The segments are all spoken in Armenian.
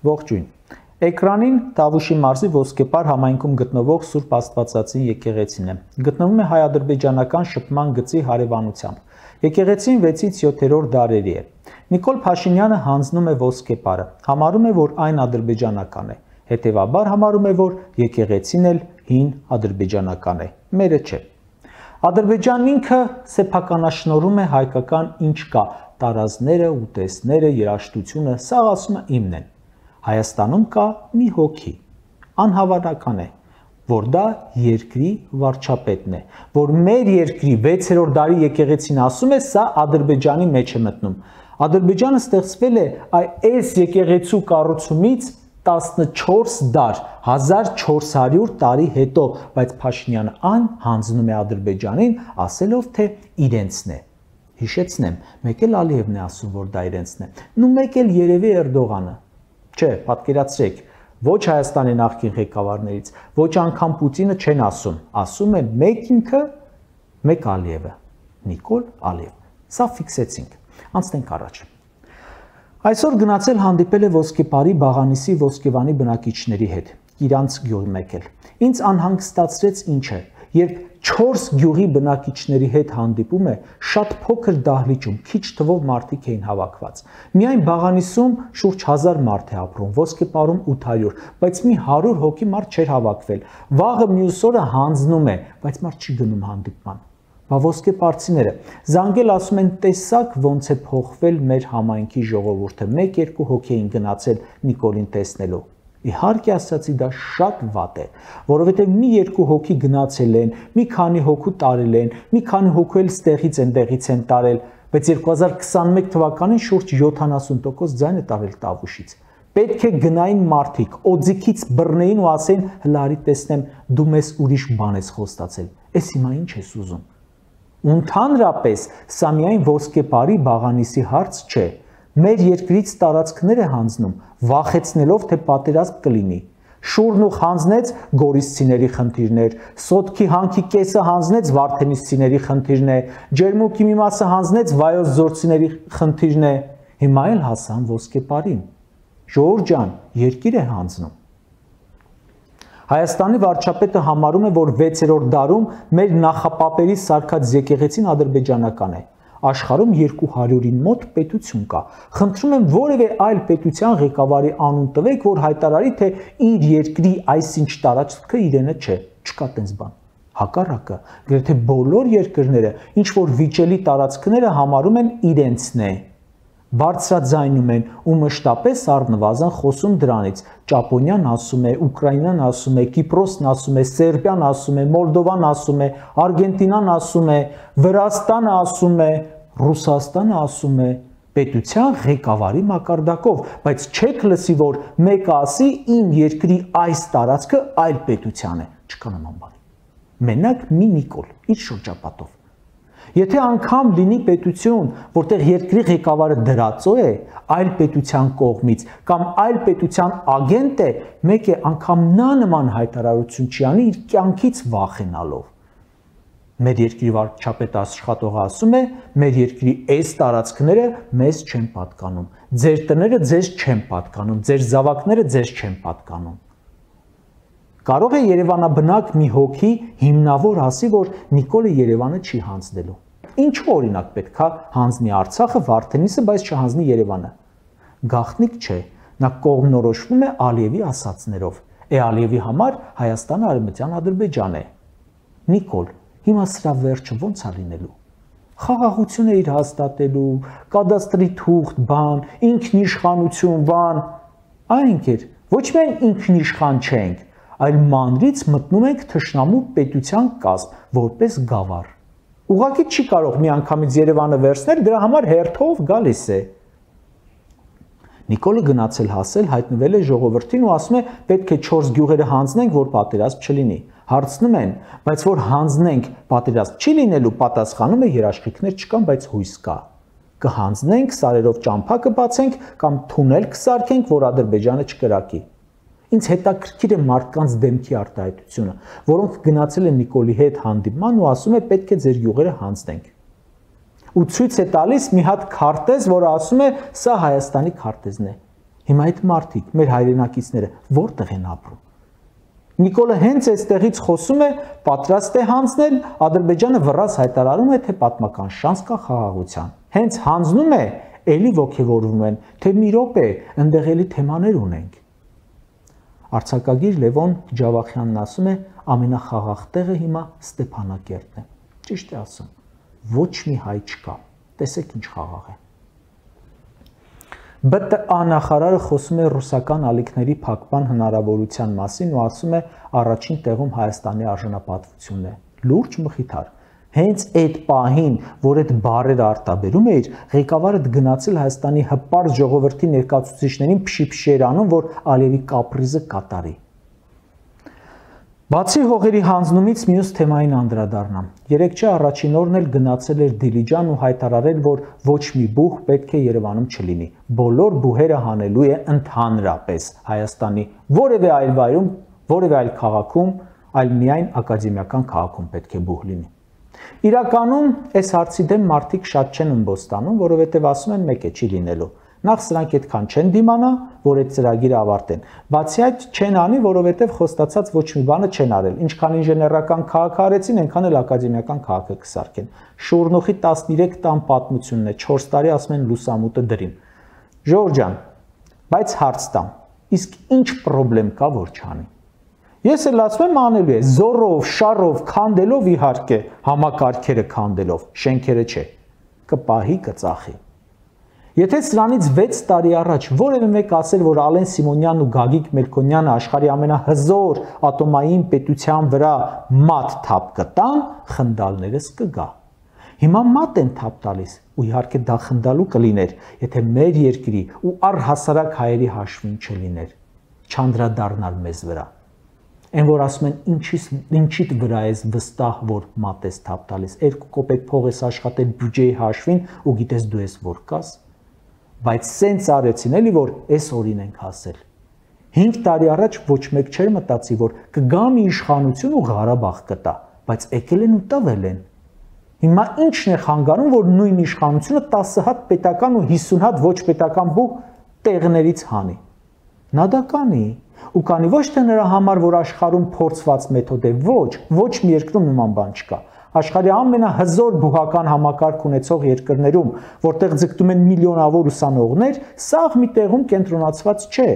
Ողջույն։ Էկրանին Տավուշի մարզի Ոսկեպար համայնքում գտնվող Սուրբ Աստվածածին եկեղեցին է։ Գտնվում է հայ-ադրբեջանական շփման գծի հարևանությամբ։ Եկեղեցին 6-ից 7-րդ դարերի է։ Նիկոլ Փաշինյանը հանձնում է Ոսկեպարը, համարում է, որ այն ադրբեջանական է։ Հետևաբար համարում է, որ եկեղեցին էլ հին ադրբեջանական է։ Մերը չէ։ Ադրբեջանն ինքը սեփականաշնորհում է հայկական ինչ կա, տարազները, ուտեստները, երաժշտությունը, սա ասում է իմն են։ Հայաստանում կա մի հոգի, անհավանական է, որ դա երկրի վարչապետն է, որ մեր երկրի 6-րդ դարի եկեղեցին ասում է, սա Ադրբեջանի մեջ է մտնում։ Ադրբեջանը ստեղծվել է այս եկեղեցու կառուցումից 14 դար, 1400 տարի հետո, բայց Փաշինյանը այն հանձնում է Ադրբեջանին, ասելով, թե իրենցն է։ Հիշեցնեմ, մեկ էլ Ալիևն է ասում, որ դա իրենցն է, նու մեկ էլ երևի Էրդողանը։ Չէ, պատկերացրեք, ոչ Հայաստանի նախկին ղեկավարներից, ոչ անգամ Պուտինը չեն ասում են մեկ ինքը, մեկ Ալիևը, Նիկոլ Ալիև։ Սա ֆիքսեցինք, անցնենք առաջ։ Այսօր գնացել հանդիպել է Ոսկեպարի Բաղանիսի Ոսկեվանի բնակիչների հետ, իրանց գյուղ մեկել։ Ինձ անհանգստացրեց ինչը, երբ 4 գյուղի բնակիչների հետ հանդիպում է, շատ փոքր դահլիճում, քիչ թվով մարդիկ էին հավաքված։ Միայն Բաղանիսում շուրջ 1000 մարդ է ապրում, Ոսկեպարում 800, բայց մի 100 հոգի մարդ չէր հավաքվել։ Վաղը մյուս օրը հանձնում է, բայց մարդ չի գնում հանդիպման։ Բա ոսկեպարցիները զանգել ասում են, տեսակ ոնց է փոխվել մեր համայնքի ժողովուրդը, 1-2 հոգի էին գնացել Նիկոլին տեսնելու։ Իհարկե ասացի դա շատ վատ է, որովհետև մի 2 հոգի գնացել են, մի քանի հոգու տարել են, մի քանի հոգու էլ ստեղից են տարել, բայց 2021 թվականին շուրջ 70% ձայն է տարել Տավուշից։ Պետք է գնային մարդիկ, օձիքից բռնեին ու ասեն, հլարի տեսնեմ, դու մեզ ուրիշ բան ես խոստացել, էս հիմա ինչ ես ուզում։ Ընդհանրապես սա միայն Ոսկեպարի Բաղանիսի հարց չէ, մեր երկրից տարածքներ է հանձնում, վախեցնելով, թե պատերազմ կլինի։ Շուրնուխ հանձնեց գորիսցիների խնդիրներ, Սոտքի հանքի կեսը հանձնեց վարդենիսցիների խնդիրն է, Ջերմուկի մի մասը հանձնեց վայոց ձորցիների խնդիրն է, հիմա էլ հասան Ոսկեպարին։ Ժողովուրդ ջան, երկիր է հանձնում։ Հայաստանի վարչապետը համարում է, որ 6-րդ դարում մեր նախապապերի սարքած եկեղեցին ադրբեջանական է։ Աշխարհում 200-ին մոտ պետություն կա։ Խնդրում եմ որևէ այլ պետության ղեկավարի անուն տվեք, որ հայտարարի, թե իր երկրի այսինչ տարածքը իրենը չէ, չկա տենց բան։ Հակառակը, գրեթե բոլոր երկրները, ինչ որ վիճելի տարածքները համարում են իրենցն է։ Բարձրաձայնում են ու մշտապես առնվազն խոսում դրանից։ Ճապոնիան ասում է, Ուկրաինան ասում է, Կիպրոսն ասում է, Սերբիան ասում է, Մոլդովան ասում է, Արգենտինան ասում է, Վրաստանը ասում է, Ռուսաստանը ասում է, պետության ղեկավարի մակարդակով, բայց չեք լսի, որ մեկը ասի իմ երկրի այս տարածքը այլ պետության է, չկա նման բան։ Մենակ մի Նիկոլ, իր շրջապատով։ Եթե անգամ լինի պետություն, որտեղ երկրի ղեկավարը դրածո է, այլ պետության կողմից կամ այլ պետության ագենտ է, մեկ է անգամ նա նման հայտարարություն չի անի իր կյանքից վախենալով։ Մեր երկրի վարչապետ աշխատողը ասում է, մեր երկրի այս տարածքները մեզ չեն պատկանում, ձեր տները ձեզ չեն պատկանում, ձեր զավակները ձեզ չեն պատկանում։ Կարող է Երևանաբնակ մի հոգի հիմնավոր ասի, որ Նիկոլը Երևանը չի հանձնելու։ Ինչու օրինակ պետքա հանձնի Արցախը, Վարդենիսը, բայց չհանձնի Երևանը։ Գաղտնիք չէ, նա կողմնորոշվում է Ալիևի ասածներով։ Ալիևի համար Հայաստանը արևմտյան Ադրբեջան է։ Նիկոլ, հիմա սրա վերջը ո՞նց է լինելու։ Խաղաղություն է իր հաստատելու, կադաստրի թուղթ, բան, ինքնիշխանություն, բան։ Այնքեր, ոչ միայն ինքնիշխան չենք, այլ մանրից մտնում ենք թշնամու պետության կազմ, որպես գավառ։ Ուղղակի չի կարող միանգամից Երևանը վերցնել, դրա համար հերթով գալիս է։ Նիկոլը գնացել հասել, հայտնվել է ժողովրդին ու ասում է, պետք է 4 գյուղերը հանձնենք, որ պատերազմ չլինի։ Հարցնում են, բայց որ հանձնենք, պատերազմ չի լինելու, պատասխանում է երաշխիքներ չկան, բայց հույս կա։ Կհանձնենք, սարերով ճամփա կբացենք կամ թունել կսարքենք, որ Ադրբեջանը չկրակի։ Ինձ հետաքրքիր է մարդկանց դեմքի արտահայտությունը, որոնք գնացել են Նիկոլի հետ հանդիպման ու ասում է պետք է ձեր գյուղերը հանձնենք։ Ու ցույց է տալիս մի հատ քարտեզ, որը ասում է սա Հայաստանի քարտեզն է։ Հիմա այդ մարդիկ, մեր հայրենակիցները, որտեղ են ապրում։ Նիկոլը հենց այստեղից խոսում է, պատրաստ է հանձնել, Ադրբեջանը վռаз հայտարարում է, թե պատմական շանս կա խաղաղության։ Հենց հանձնում է, էլի ոգևորվում են, թե մի րոպե, ընդեղ էլի թեմաներ ունենք։ Արձակագիր Լևոն Ջավախյանն ասում է, ամենախաղաղ տեղը հիմա Ստեփանակերտն է։ Ճիշտ է ասում, ոչ մի հայ չկա, տեսեք ինչ խաղաղ է։ ԲՏԱ նախարարը խոսում է ռուսական ալիքների փակման հնարավորության մասին ու ասում է առաջին տեղում Հայաստանի արժանապատվությունն է։ Լուրջ մխիթար։ Հենց այդ պահին, որ այդ բառերը արտաբերում էիր, ղեկավարը գնացել Հայաստանի հպարտ ժողովրդի ներկայացուցիչներին փշի-փշի էր անում, որ Ալիևի կապրիզը կատարի։ Բացի հողերի հանձնումից մյուս թեմային անդրադառնամ։ Երեքշաբթի առաջին օրն էլ գնացել էր Դիլիջան ու հայտարարել, որ ոչ մի բուհ պետք է Երևանում չլինի։ Բոլոր բուհերը հանելու է ընդհանրապես Հայաստանի որևէ այլ վայրում, որևէ այլ քաղաքում, այլ միայն ակադեմիական քաղաքում պետք է բուհ լինի։ Իրականում այս հարցի դեմ մարդիկ շատ չեն ըմբոստանում, որովհետև ասում են մեկ է չի լինելու։ Նախ սրանք այդքան չեն դիմանա, որ այդ ծրագիրը ավարտեն։ Բացի այդ չեն անի, որովհետև խոստացած ոչ մի բանը չեն արել։ Ինչքան ինժեներական քաղաք արեցին, այնքան էլ ակադեմիական քաղաքը կսարքեն։ Շուռնուխի 13 տան պատմությունն է, 4 տարի ասում են լուսամուտը դրին։ Ժորժ ջան, բայց հարց տամ, իսկ ինչ խնդրեմ կա, որ չանի։ Ես էլ ասում եմ անելու է, զորով, շարով, քանդելով իհարկե, համակարգերը քանդելով, շենքերը չէ։ Կպահի, կծախի։ Եթե սրանից 6 տարի առաջ որևէ մեկ ասել, որ Ալեն Սիմոնյանն ու Գագիկ Մելքոնյանը աշխարհի ամենահզոր ատոմային պետության վրա մատ թափ կտան, խնդալներս կգա։ Հիմա մատ են թափ տալիս, ու իհարկե դա խնդալու կլիներ, եթե մեր երկրի ու առհասարակ հայերի հաշվին չլիներ, չանդրադառնալ մեզ վրա։ Այն որ ասում են ինչիդ վրա ես վստահ, որ մատ ես թափ տալիս, 2 կոպեկ փող ես աշխատել բյուջեի հաշվին ու գիտես դու ես որ կաս։ Բայց սենց արեցին էլի, որ այս օրին ենք հասել։ 5 տարի առաջ ոչ մեկ չէր մտածի, որ կգա մի իշխանություն ու Ղարաբաղ կտա, բայց եկել են ու տվել են։ Հիմա ինչն է խանգարում, որ նույն իշխանությունը 10 հատ պետական ու 50 հատ ոչ պետական բուհ տեղներից հանի։ Նա դա կանի, ու կանի ոչ թե նրա համար, որ աշխարհում փորձված մեթոդ է, ոչ մի երկրում նման բան չկա։ Աշխարհի ամենահզոր բուհական համակարգ ունեցող երկրներում, որտեղ ձգտում են միլիոնավոր ուսանողներ, սաղ մի տեղում կենտրոնացված չէ։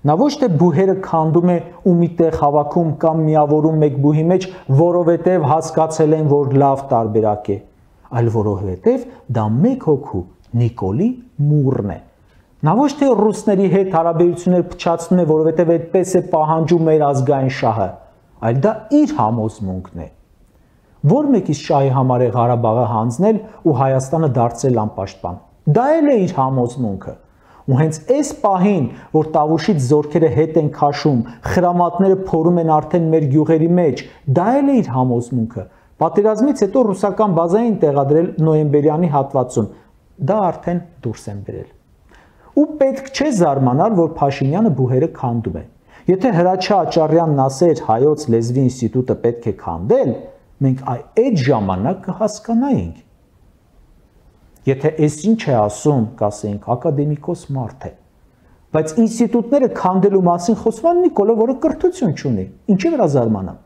Նա ոչ թե բուհերը քանդում է ու մի տեղ հավաքում կամ միավորում մեկ բուհի մեջ, որովհետև հասկացել են, որ լավ տարբերակ է, այլ որովհետև դա մեկ հոգու Նիկոլի Մուրն է։ Նա ոչ թե ռուսների հետ հարաբերություններ փչացնում է, որովհետև այդպես է պահանջում մեր ազգային շահը, այլ դա իր համոզմունքն է։ Որ մեկից շահի համար է Ղարաբաղը հանձնել ու Հայաստանը դարձել անպաշտպան։ Դա էլ է իր համոզմունքը։ Ու հենց այս պահին, որ Տավուշից զորքերը հետ են քաշում, խրամատները փորում են արդեն մեր գյուղերի մեջ, դա էլ է իր համոզմունքը։ Պատերազմից հետո ռուսական բազա են տեղադրել նոյեմբերյանի հատվածում։ Դա արդեն դուրս են բերել։ Ու պետք չէ զարմանալ, որ Փաշինյանը բուհերը քանդում է։ Եթե Հրաչյա Աճարյանն ասեր հայոց լեզվի ինստիտուտը պետք է քանդել, մենք այդ ժամանակ կհասկանայինք։ Եթե այս ինչ է ասում, կասեինք ակադեմիկոս մարդ է։ Բայց ինստիտուտները քանդելու մասին խոսման Նիկոլը, որը կրթություն չունի, ինչի վրա զարմանամ։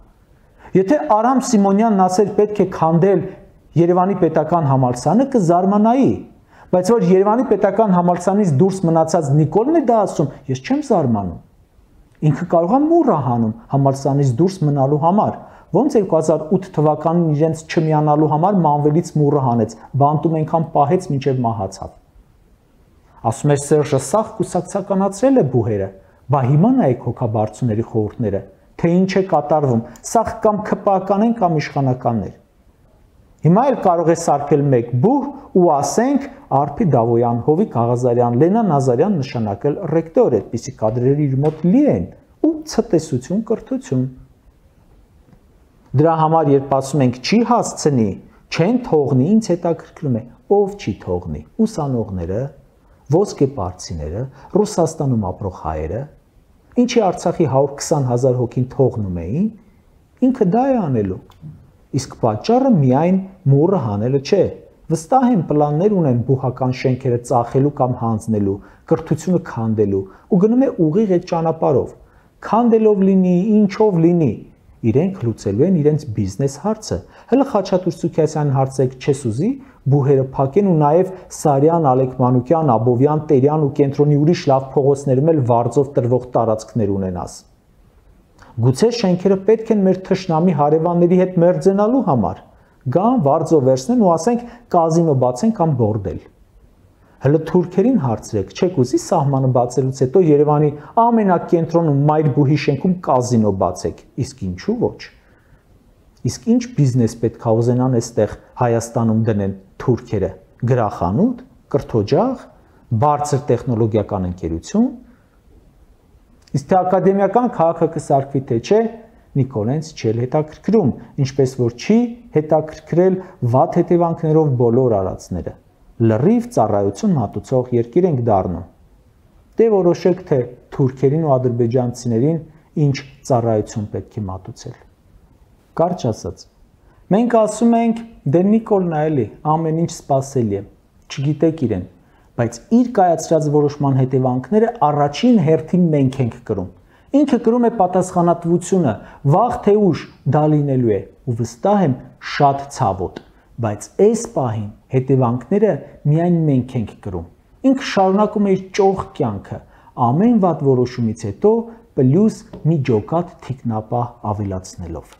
Եթե Արամ Սիմոնյանն ասեր պետք է քանդել Երևանի պետական համալսարանը, կզարմանայի։ Բայց որ Երևանի պետական համալսարանից դուրս մնացած Նիկոլն է դա ասում, ես չեմ զարմանում։ Ինքը կարող է մուրը հանում համալսարանից դուրս մնալու համար, ոնց 2008 թվականին իրենց չմիանալու համար մանվելից մուրը հանեց, բանտում այնքան պահեց, մինչև մահացավ։ Ասում էր Սերժը սաղ կուսակցականացրել է բուհերը, բա հիմա նայեք հոգաբարձուների խորհուրդները, թե ինչ է կատարվում, սաղ կամ ԿՊԱ-ական են կամ իշխանականներ։ Հիմա էլ կարող է սարքել մեկ բուհ ու ասենք Արփի Դավոյան, Հովիկ Աղազարյան, Լենա Նազարյան նշանակել ռեկտոր, այդպիսի կադրերը իր մոտ լի են ու ցտեսություն, կրթություն։ Դրա համար երբ ասում ենք չի հասցնի, չեն թողնի, ինձ հետաքրքրում է, ով չի թողնի, ուսանողները, ոսկեպարծիները, Ռուսաստանում ապրող հայերը, ինչի Արցախի 120,000 հոգին թողնում էին, ինքը դա է անելու։ Իսկ պատճառը միայն մուրը հանելը չէ, Վստահ եմ պլաններ ունեն բուհական շենքերը ծախելու կամ հանձնելու, կրթությունը քանդելու ու գնում է ուղիղ այդ ճանապարհով։ Քանդելով լինի, ինչով լինի, իրենք լուծելու են իրենց բիզնես հարցը։ Հələ Խաչատուր Սուքիասյանն հարցեք չես ուզի, բուհերը փակեն ու նաև Սարյան, Ալեք Մանուկյան, Աբովյան, Տերյան ու կենտրոնի ուրիշ լավ փողոցներում էլ վարձով տրվող տարածքներ ունենաս։ Գուցե շենքերը պետք են մեր թշնամի հարևանների հետ մերձենալու համար։ Գան վարձով վերցնեն ու ասենք կազինո բացեն կամ բորդել։ Հələ թուրքերին հարցրեք, չեք ուզի սահմանը բացելուց հետո Երևանի ամենակենտրոնում Մայրբուհի շենքում կազինո բացեք, իսկ ինչու ոչ։ Իսկ ինչ բիզնես պետք է ուզենան այստեղ Հայաստանում դնեն թուրքերը, գրախանութ, կրթօջախ, բարձր տեխնոլոգիական ընկերություն։ Իսկ թե ակադեմիական քաղաքը կսարքվի թե չէ, Նիկոլենց չի հետաքրքրում, ինչպես որ չի հետաքրքրել վատ հետևանքներով բոլոր արածները։ Լրիվ ծառայություն մատուցող երկիր ենք դառնում։ Դե որոշեք, թե թուրքերին ու ադրբեջանցիներին ինչ ծառայություն պետք է մատուցել։ Կարճ ասած, մենք ասում ենք, դե Նիկոլն էլի ամեն ինչ սпасելի է, չգիտեք իրեն, բայց իր կայացրած որոշման հետևանքները առաջին հերթին մենք ենք կրում։ Ինքը կրում է պատասխանատվությունը, վաղ թե ուշ դա լինելու է, ու վստահ եմ շատ ցավոտ, բայց այս պահին հետևանքները միայն մենք ենք կրում։ Ինքը շարունակում է իր ճոխ կյանքը, ամեն վատ որոշումից հետո պլյուս մի ջոկատ թիկնապահ ավելացնելով։